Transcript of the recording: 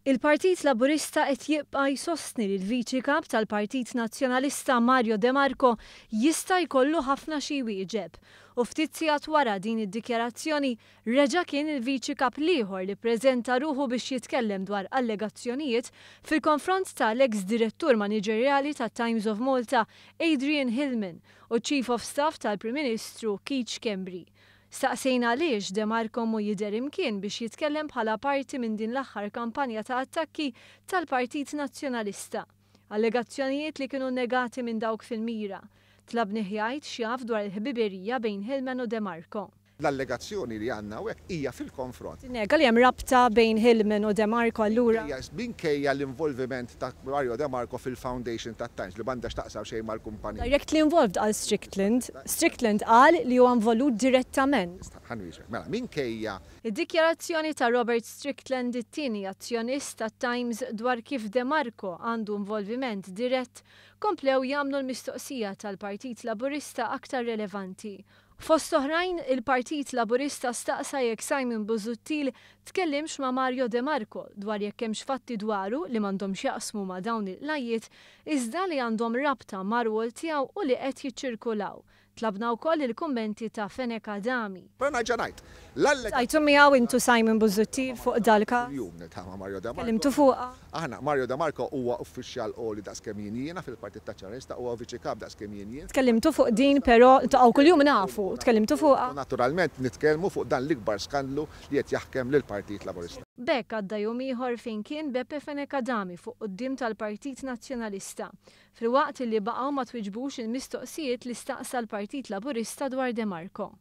Il-Partit Laburista qed jibqa' jsostni li l-Viċi Kap tal-Partit Nazzjonalista Mario De Marco jista' jkollu ħafna xi jwieġeb. U ftit sigħat wara din id-dikjarazzjoni, reġa' kien il-Viċi Kap l-ieħor li ppreżenta ruħu biex jitkellem dwar allegazzjonijiet fil-konfront ta' l-eks Direttur Maniġerjali tat-Times of Malta Adrian Hillman u ċ-Chief of Staff tal-Prim Ministru Keith Schembri. Staqsejna għaliex De Marco mhu jidher imkien biex jitkellem bħala parti minn din l-aħħar kampanja ta' attakki tal-Partit Nazzjonalista. Allegazzjonijiet li kienu negati minn dawk fil-mira. Tlabnih jgħid x'jaf dwar il-ħbiberija bejn Hillman u De Marco. L-allegazzjoni li għandna hawnhekk hija fil-konfront. Tinnega li hemm rabta bejn Hillman u De Marco allura? Minkejja l-involviment ta' Mario De Marco fil-foundation tat-Times li m'għandha x'taqsam xejn mal-kumpanija. Directly involved qal Strickland. Strickland qal li huwa involut direttament. Ħa nwieġbek. Mela, minkejja. Id-dikjarazzjoni ta' Robert Strickland, it-tieni azzjonist tat-Times, dwar kif De Marco għandu involviment dirett, komplew jagħmlu l-mistoqsija tal-Partit Laburista aktar relevanti. Fost oħrajn, il-Partit Laburista staqsa jekk Simon Busuttil tkellimx ma' Mario De Marco dwar jekk hemmx fatti dwaru li m'għandhomx x'jaqsmu ma' dawn il-qlajjiet iżda li għandhom rabta mar-rwol tiegħu u li qed jiċċirkulaw. Tlabna wkoll il-kummenti ta' Fenech Adami. Però nerġa' ngħid, l-allegazzjoni. Ltqajtu miegħu int u Simon Busuttil fuq dal-każ? Kuljum niltaqa' ma' Mario De Marco. Tkellimtu fuqha? Aħna, Mario De Marco huwa uffiċjal għoli daqs kemm jien jiena fil-Partit Nazzjonalista, huwa Viċi Kap daqs kemm jien jien. Tkellimtu fuq din però, ltaqgħu kuljum nafu, tkellimtu fuqha? U naturalment nitkellmu fuq dan l-ikbar skandlu li qed jaħkem lill-Partit Laburista. B'hekk għadda jum ieħor fejn kien Beppe Fenech Adami fuq quddiem tal-Partit Nazzjonalista, filwaqt illi baqgħu ma twiġbux il-mistoqsijiet li staqsa l-Partit Laburista dwar De Marco.